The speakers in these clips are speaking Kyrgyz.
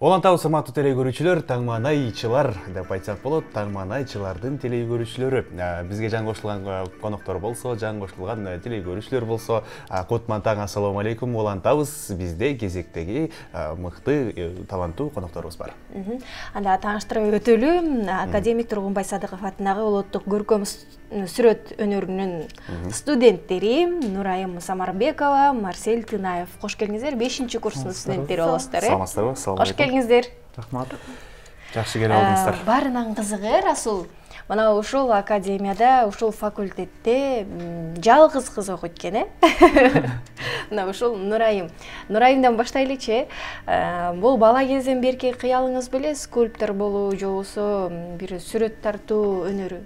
Олантабыз урматтуу телегөрүүчүлөр, таңманайчылар деп айтсак болот, таңманайчылардын телегөрүүчүлөрү. Бизге жан кошулган коноктор болсо, жан кошулган телегөрүүчүлөр болсо, кутман таң, ассалому алейкум. Олантабыз бизде кезектеги мыкты, таланттуу конокторубуз бар. Анда тааныштырып өтөлү, академик Тургунбай Садыков атындагы улуттук көркөм сүрөт өнөрүнүн студенттери Нурайым Самарбекова, Марсель Тынаев. Кош келиңиздер. 5-курстун студенттери болосуздар. Саламатсыздарбы? Кош келиңиздер. Рахмат. Жакшы келип алдыңыздар. Баарынан кызыгы, Расул. Мына ушул академияда, ушул факультетте жалгыз кыз окуйт экен, Мына ушул Нурайым. Нурайымдан баштайлычы. Бул бала кезден берки кыялыңыз беле скульптор болуу, же болбосо бир сүрөт тартуу өнөрү?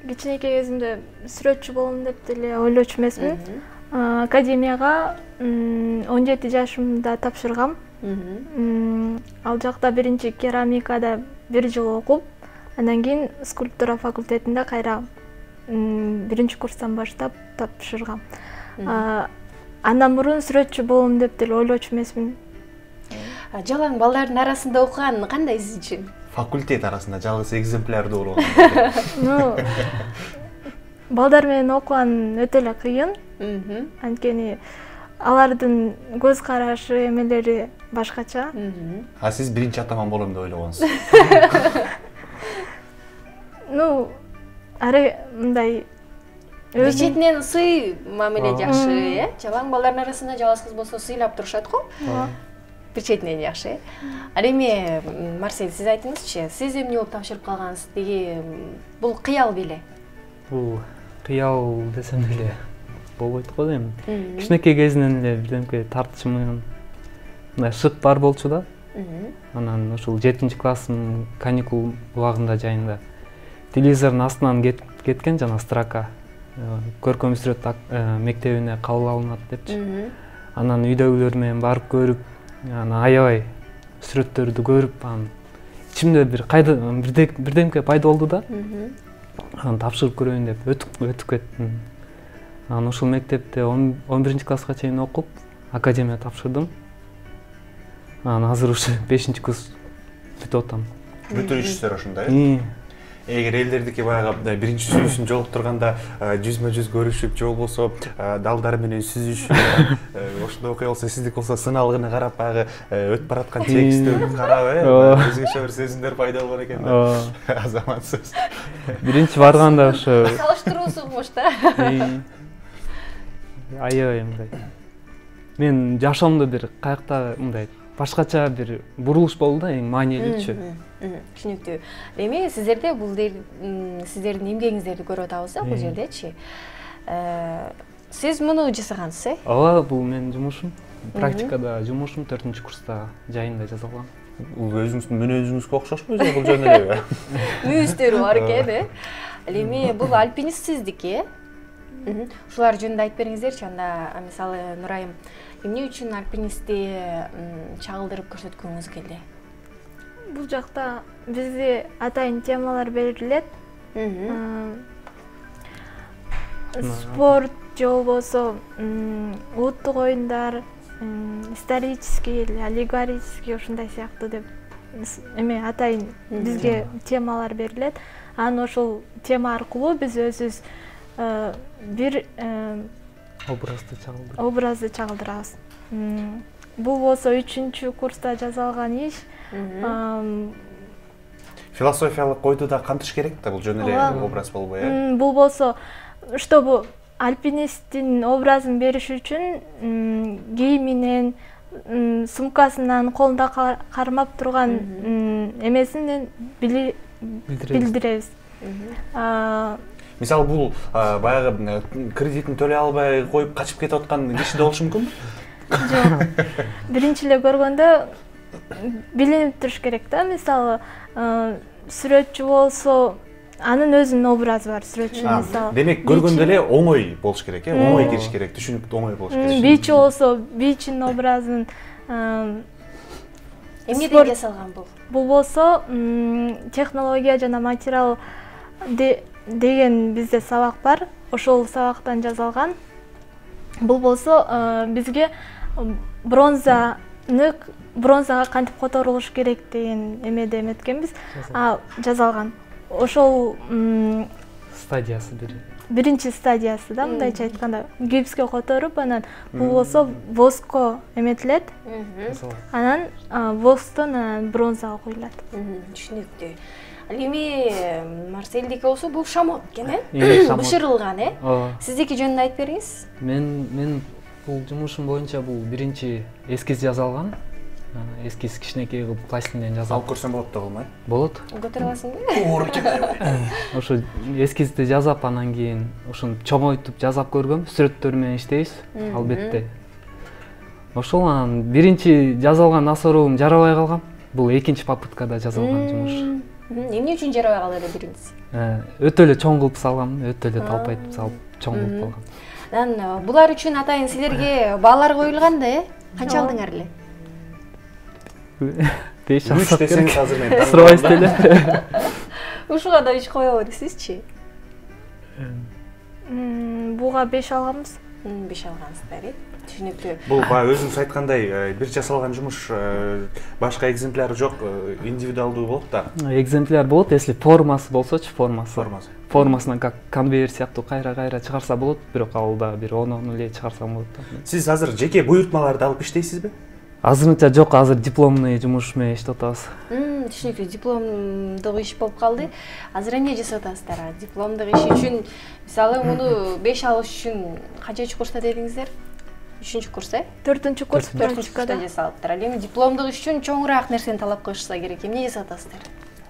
Кичинекей кезимде сүрөтчү болом деп деле ойлочу эмесмин. Академияга 17 жашымда тапшыргам. Ал жакта биринчи керамикада 1 жыл окуп, андан кийин скульптура факультетинде кайра 1-курстан баштап тапшыргам. Андан мурун сүрөтчү болом деп деле ойлочу эмесмин. Жалаң балдардын арасында окуган кандай сиз үчүн? Факультет арасында жалгыз экземплярдуу болгон. Балдар менен окуган өтө эле кыйын. Анткени алардын көз карашы, эмелери башкача. А сиз биринчи атаман болом деп ойлогонсуз? Мындай Бечетинен сый мамиле жакшы, Жалаң балдардын арасында жалгыз кыз болсо сыйлап турушат го. Бечетинен жакшы. Ал эми Марсель, сиз айтыңызчы, сиз эмне болуп тапшырып калгансыз? Деги бул кыял беле? Бул кыял десем деле болбойт го эми. Кичинекей кезинен эле бирдемке тартышым, мындай шык бар болчу да. Анан ушул 7-класстын каникул убагында жайында телевизордун астынан кеткен жана строка. Көркөм сүрөт мектебине кабыл алынат депчи. Анан үйдөгүлөр менен барып көрүп, аябай сүрөттөрдү көрүп, ичимде бирдемке пайда болду да. Анан тапшырып көрөйүн деп өтүп кеттим. Анан ушул мектепте 11-класска чейин окуп, академия тапшырдым. Анан азыр ушу 5-курс бүтүп атам. Бүтүрүшүздөр ошондой. Эгер элдердики баягы биринчи сүзүүсүн жолуктурганда жүзмө-жүз көрүшүп, же болбосо далдар менен сүзүшүп, ошондой окуя болсо, сиздики болсо сыналгыны карап, баягы өтүп бараткан текстти карап, өзгөчө бир сезимдер пайда болгон экен да. Азаматсыз. Биринчи барганда ошо салыштыруусуңуш да. Аябай мындай. Мен жашоомдо бир каякта мындай башкача бир бурулуш болду да, эң маанилүүчү. Түшүнүктүү. Эми сиздерде бул сиздердин эмгегиңиздерди көрүп атабыз да, бул жердечи. Сиз муну жасагансыз, Ооба, бул менин жумушум. Практикада жумушум 4-курста жайында жасалган. Бул өзүңүздүн мүнөзүңүзгө окшошпу, же бул жөн эле? Мүйүздөрү бар экен, Эми бул альпинисттиздики. Ушулар жөнүндө айтып бериңиздерчи. Анда мисалы Нурайым, эмне үчүн альпинистти чагылдырып көрсөткүңүз келди? Бул жакта бизге атайын темалар берилет. Спорт же болбосо улуттук оюндар, исторический, аллегорический ушундай сыяктуу деп эме атайын бизге темалар берилет. Анан ошол тема аркылуу биз өзүбүз бир образды чагылдырабыз. Бул болсо 3-курста жасалган иш. Философиялык ойду да кантыш керек да, бул жөн эле образ болбой, Бул болсо, чтобы альпинисттин образын бериш үчүн кийиминен, сумкасынан, колунда кармап турган эмесинен билдиребиз. Мисалы, бул баягы кредитин төлөй албай коюп качып кетип аткан киши да болушу мүмкүнбү? Жок. Биринчи эле көргөндө билинип туруш керек да. Мисалы, сүрөтчү болсо анын өзүнүн образы бар сүрөтчүнүн, мисалы. Демек көргөндө эле оңой болуш керек, оңой кириш керек, түшүнүктүү оңой болуш керек. Бичи болсо, бичинин образын эмнеден жасалган бул? Бул болсо технология жана материал деген бизде сабак бар. Ошол сабактан жасалган. Бул болсо бизге бронзага кантип которулуш керек деген эмеде эметкенбиз. Жазалган. Ошол стадиясы биринчи стадиясы да, мындайча айтканда, гипске которуп, анан бул болсо воскко эметилет. Анан восктон бронзага куюлат. Түшүнүктүү. Ал эми Марселдики болсо бул шамот экен, э? Бышырылган, э? Сиздики жөнүндө айтып бериңиз. Мен бул жумушум боюнча бул биринчи эскиз жасалган. Эскиз кичинекей кылып пластинден жасалып. Алып көрсөм болот да болмай? Болот. Көтөрүп аласыңбы? Оор экен. Ошо эскизди жасап, анан кийин ошону чоңойтуп жасап көргөм. Сүрөттөр менен иштейбиз, албетте. Ошол анан биринчи жасалган асоробум жарабай калган. Бул экинчи попыткада жасалган жумуш. Эмне үчүн жарабай калды эле биринчиси? Өтө эле чоң кылып салгам, өтө эле талпайтып салып чоң кылып калгам. Анан булар үчүн атайын силерге баалар коюлган да, э? Канча алдыңар эле? 5 3 десеңиз азыр мен сурабайсыз эле. Ушуга да 3 коебу десизчи? Буга 5 алганбыз. 5 алгансыздар, э? Түшүнүктүү. Бул баягы өзүңүз айткандай бир жасалган жумуш, башка экземпляр жок, индивидуалдуу болот да. Экземпляр болот, если формасы болсочу, формасынан как конвейер сыяктуу кайра чыгарса болот, бирок ал да бир 10 эле чыгарсам болот да. Сиз азыр жеке буйртмаларды алып иштейсизби? Азырынча жок, азыр дипломный жумуш менен иштеп атабыз. Түшүнүктүү, дипломдук иш болуп калды. Азыр эмне жасап атасыздар? Дипломдук иш үчүн, мисалы, муну 5 алыш үчүн канчанчы курста дедиңиздер? 3-чү курс, э? 4-чү курс, 4-чү курста жасалыптыр. Ал эми дипломдук иш үчүн чоңураак нерсени талап кылышса керек. Эмне жасап атасыздар?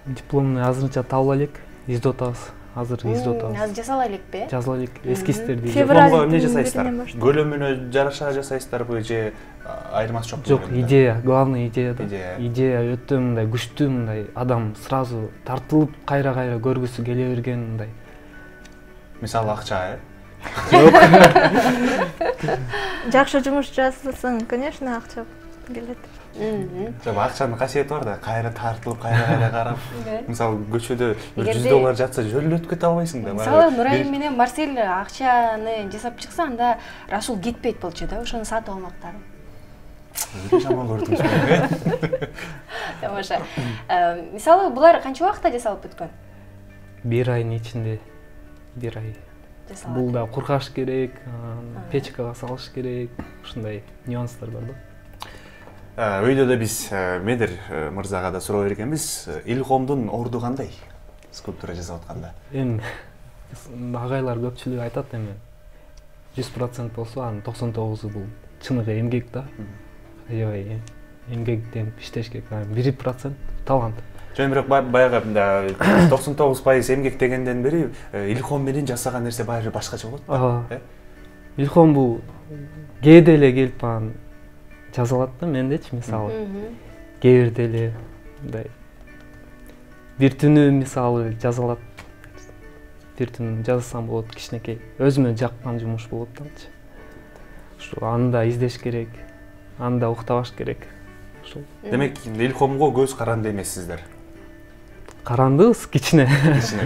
Дипломный азырынча табыла элек, издеп атабыз. Азыр издеп атабыз. Азыр жасала элекпи? Жазыла элек, эскиздерди. Дипломго эмне жасайсыздар? Көлөмүнө жараша жасайсыздарбы же айырмасы жок? Жок, идея, главный идея да. Идея өтө мындай күчтүү, мындай адам сразу тартылып кайра көргүсү келе берген мындай. Мисалы акча, э? Жок. Жакшы жумуш жасасаң, конечно, акча келет. Жок, акчанын касиети бар да, кайра тартылып, кайра карап. Мисалы көчөдө $100 жатса жөлүп кете албайсың да. Мисалы Нурайым менен Марсель акчаны жасап чыкса, анда Расул кетпейт болчу да, ошону сатып алмактары. Жаман көрдүңүзбү? Тамаша. Мисалы булар канча убакытта жасалып бүткөн? 1 айдын ичинде. 1 ай. Бул да куркаш керек, печкага салыш керек, ушундай нюанстар бар да. Өйдө да биз Медер мырзага да суроо бергенбиз, Илхомдун орду кандай скульптура жасап атканда? Эми агайлар көпчүлүгү айтат, эми 100% болсо, анын 99 бул чыныгы эмгек да. Аябай эмгектен иштеш керек. 1% талант. Жөн бирок баягы 99% эмгек дегенден бери Илхом менен жасаган нерсе баягы башкача болот да. Илхом бул кээде эле келип анан жазалат да, мендечи, мисалы. Кээ бирде эле мындай бир түнү мисалы жазалат. Бир түнү жазсам болот, кичинекей. Өзүмө жаккан жумуш болот дачы. Ушу анда издеш керек, анда уктабаш керек. Ошол. Демек, Илхомго көз каранды эмессиздер. Карандыбыз кичине. Кичине,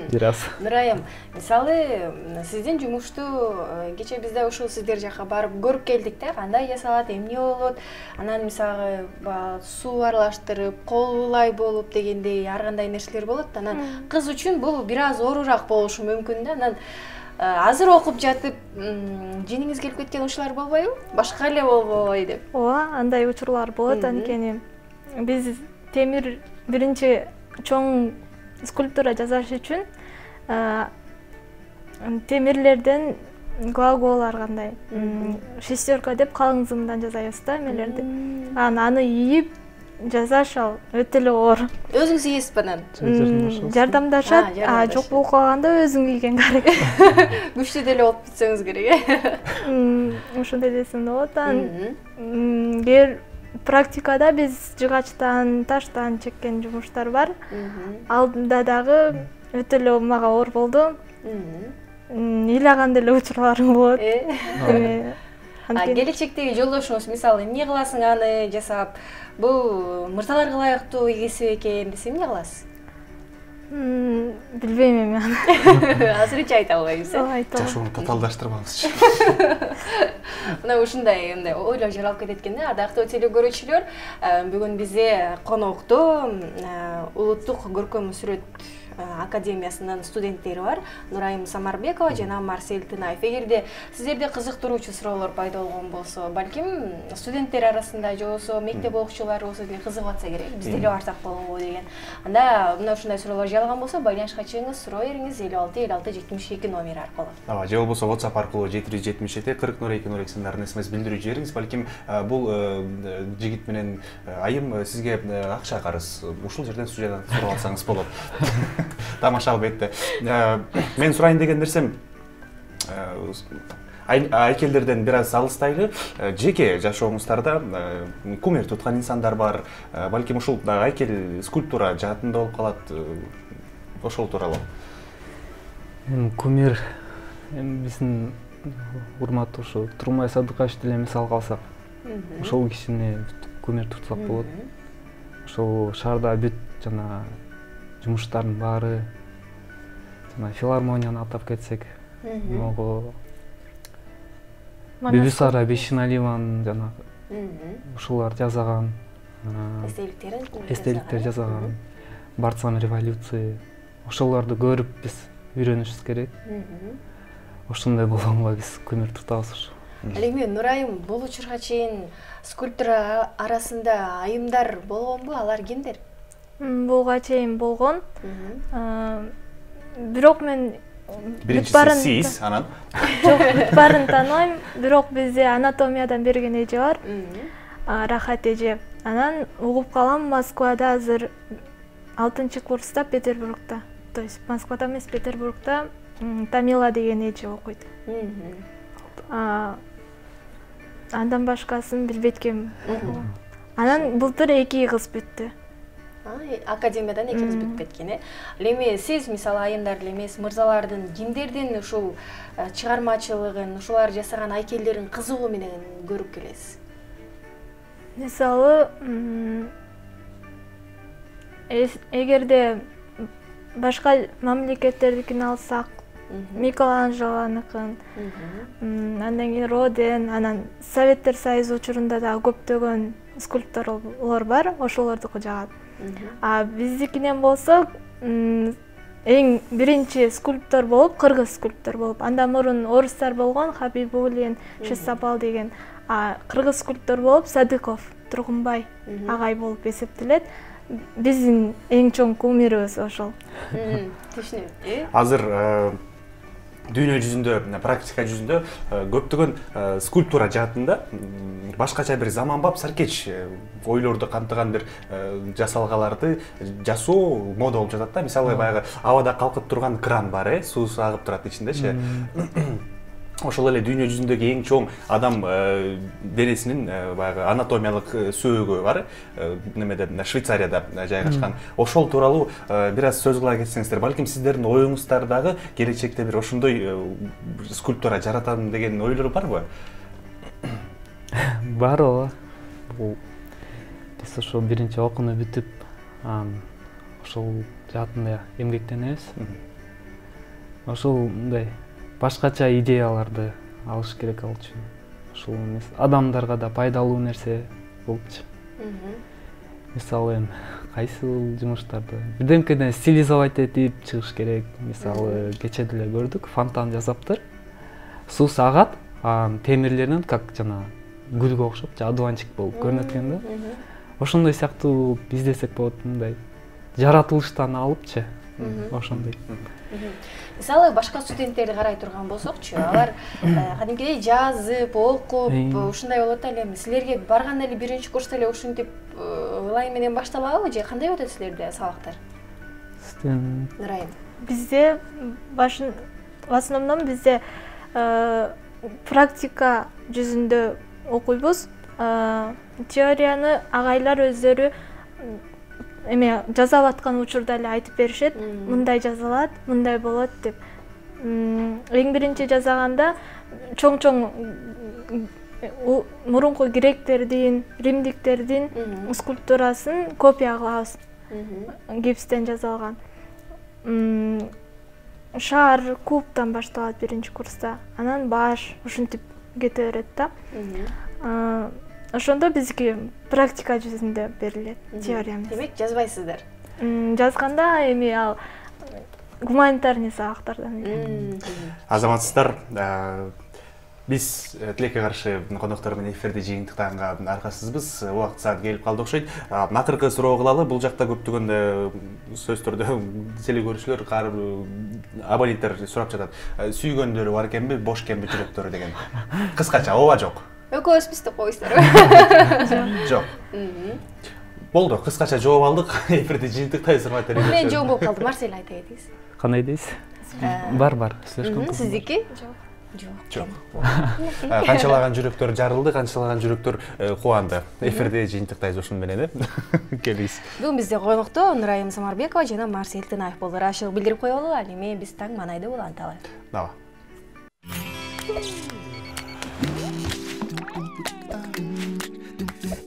бир аз. Нурайым, мисалы, сиздин жумушту кече бизде ушул сиздер жака барып көрүп келдик да, кандай жасалат, эмне болот. Анан мисалы, суу аралаштырып, колулай болуп дегендей ар кандай нерселер болот. Анан кыз үчүн бул бир аз оорураак болушу мүмкүн да. Анан азыр окуп жатып, жениңиз келип кеткен учурлар болбойбу? Башка эле болбой деп. Ооба, андай учурлар болот, анткени биз темир биринчи чоң скульптура жасаш үчүн темирлерден глагол кандай шестерка деп калың зымдан жасайбыз да эмелерди. Аны ийип жасаш ал өтө эле оор. Өзүңүз ийесизби анан? Жардамдашат. Жок болуп калганда өзүң ийген керек. Күчтүү деле болуп кетсеңиз керек, э? Ошондой десем болот. Кээ практикада биз жыгачтан, таштан чеккен жумуштар бар. Алдында дагы өтө эле мага оор болду. Ыйлаган деле учурларым болот. Келечектеги жолдошуңуз мисалы эмне кыласың аны жасап, бул мырзаларга ылайыктуу кесип экен десе эмне кыласыз? Билбейм эми аны. Азырынча айта албайбыз. Жашоону татаалдаштырбаңызчы. Мына ушундай ойлор жаралып кетет экен да. Ардактуу теле көрүүчүлөр, бүгүн бизде конокто Улуттук көркөм сүрөт академиясынын студенттери бар, Нурайым Самарбекова жана Марсель Тынаев. Эгерде сиздерде кызыктыруучу суроолор пайда болгон болсо, балким студенттер арасында же болбосо мектеп окуучулары болсо деле кызыгып атса керек, биз деле барсак болобу деген. Анда мына ушундай суроолор жаралган болсо, байланышка чыгыңыз, суроо бериңиз 56 56 72 номери аркылуу. Же болбосо WhatsApp аркылуу 777 40 02 02 сындарын смс билдирүү жибериңиз. Балким бул жигит менен айым сизге акча карыз. Ушул жерден студиядан сурап алсаңыз болот. Тамаша албетте. Мен сурайын деген нерсем айкелдерден бир аз алыстайлы. Жеке жашооңуздарда кумир туткан инсандар бар. Балким ушул айкел скульптура жаатында болуп калат. Ошол тууралуу. Кумир биздин урматтуу ушу Турмай Садыкаевич деле мисал алсак, ошол кишини кумир тутсак болот. Ошол шаарда бүт жана жумуштардын баары, жана филармонияны атап кетсек, могу Бибисара Бешиналиеванын жана ушулар жасаган эстеликтер жасаган, Барцам революция, ошолорду көрүп биз үйрөнүшүбүз керек. Ошондой болгонго биз көмүр тутабыз ушу. Ал эми Нурайым, бул учурга чейин скульптура арасында айымдар болгонбу? Алар кимдер? Буга чейин болгон. Бирок мен биринчиси сиз, анан жок, барын тааныбайм, бирок бизде анатомиядан берген эже бар. Рахат эже. Анан угуп калам, Москвада азыр 6-курста Петербургда. То есть Москвада эмес, Петербургда Тамила деген эже окуйт. Андан башкасын билбейт экенмин. Анан былтыр 2 кыз бүттү. Академиядан 2 кыз бүтүп кеткен, э? Ал эми сиз мисалы айымдар эле эмес, мырзалардын кимдердин ушул чыгармачылыгын, ушулар жасаган айкелдерин кызыгуу менен көрүп келесиз? Мисалы, эгерде башка мамлекеттердикин алсак, Микеланджелонукун, андан кийин Роден, анан Советтер Союзу учурунда да көптөгөн скульпторлор бар, ошолордуку жагат. А биздикинен болсо, эң биринчи скульптор болуп, кыргыз скульптор болуп, андан мурун орустар болгон, Хабибуллин, Шесапал деген, а кыргыз скульптор болуп Садыков, Тургунбай агай болуп эсептелет. Биздин эң чоң кумирибиз ошол. Түшүнөм. Азыр дүйнө жүзүндө, практика жүзүндө көптөгөн скульптура жаатында башкача бир заманбап саркеч ойлорду камтыган бир жасалгаларды жасоо мода болуп жатат да. Мисалы баягы абада калкып турган кран бар, суу агып турат ичиндечи. Ошол эле дүйнө жүзүндөгү эң чоң адам денесинин баягы анатомиялык сөөгү бар. Немеде Швейцарияда жайгашкан. Ошол тууралуу бир аз сөз кыла кетсеңиздер, балким сиздердин оюңуздардагы келечекте бир ошондой скульптура жаратам деген ойлор барбы? Бар ооба. Бул биз ошо биринчи окууну бүтүп, ошол жаатында эмгектенебиз. Ошол мындай башкача идеяларды алыш керек ал үчүн. Ошол эмес, адамдарга да пайдалуу нерсе болчу. Мисалы, кайсыл жумуштарды бирдемкеден стилизовать этип чыгыш керек. Мисалы, кече деле көрдүк, фонтан жасаптыр. Суу агат, темирлеринен как жана гүлгө окшоп, одуванчик болуп көрүнөт экен да. Ошондой сыяктуу издесек болот, мындай жаратылыштан алыпчы. Ошондой. Мисалы, башка студенттерди карай турган болсокчу, алар кадимкидей жазып, окуп, ушундай болот эле. Силерге барганда эле биринчи курста эле ушинтип ылайым менен башталабы же кандай өтөт силерде сабактар? Нурайым. Бизде в основном бизде практика жүзүндө окуйбуз. Теорияны агайлар өздөрү эме жазап аткан учурда эле айтып беришет, мындай жазалат, мындай болот деп. Эң биринчи жазаганда чоң мурунку гректердин, римдиктердин скульптурасын копия кылабыз. Гипстен жасалган. Шар, кубтан башталат биринчи курста. Анан баш ушинтип кете берет да. Ошондо бизге практика жүзүндө берилет, теория эмес. Демек, жазбайсыздар? Жазганда эми ал гуманитарный сабактардан. Азаматсыздар, биз тилекке каршы коноктор менен эфирди жыйынтыктаганга аркасызбыз. Убакыт саат келип калды окшойт. Акыркы суроо кылалы. Бул жакта көптөгөн сөздөрдө теле көрүүчүлөр, абоненттер сурап жатат. Сүйгөндөрү бар экенби, бош экенби жүрөктөрү деген. Кыскача, ооба жок? Экөөбүз деп коесуздарбы? Жок. Болду, кыскача жооп алдык. Эфирди жыйынтыктайбыз, урматтуу эле. Мен жооп болуп калдым. Марсель айта кетиңиз. Кандай дейсиз? Бар. Сиздики? Жок. Канчалаган жүрөктөр жарылды, канчалаган жүрөктөр кубанды. Эфирди жыйынтыктайбыз ушун менен, келиңиз. Бүгүн бизде конокто Нурайым Самарбекова жана Марсель Тынаев болду. Ачык билдирип коелу, ал эми биз таң манайды уланталы. Даба.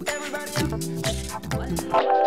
Everybody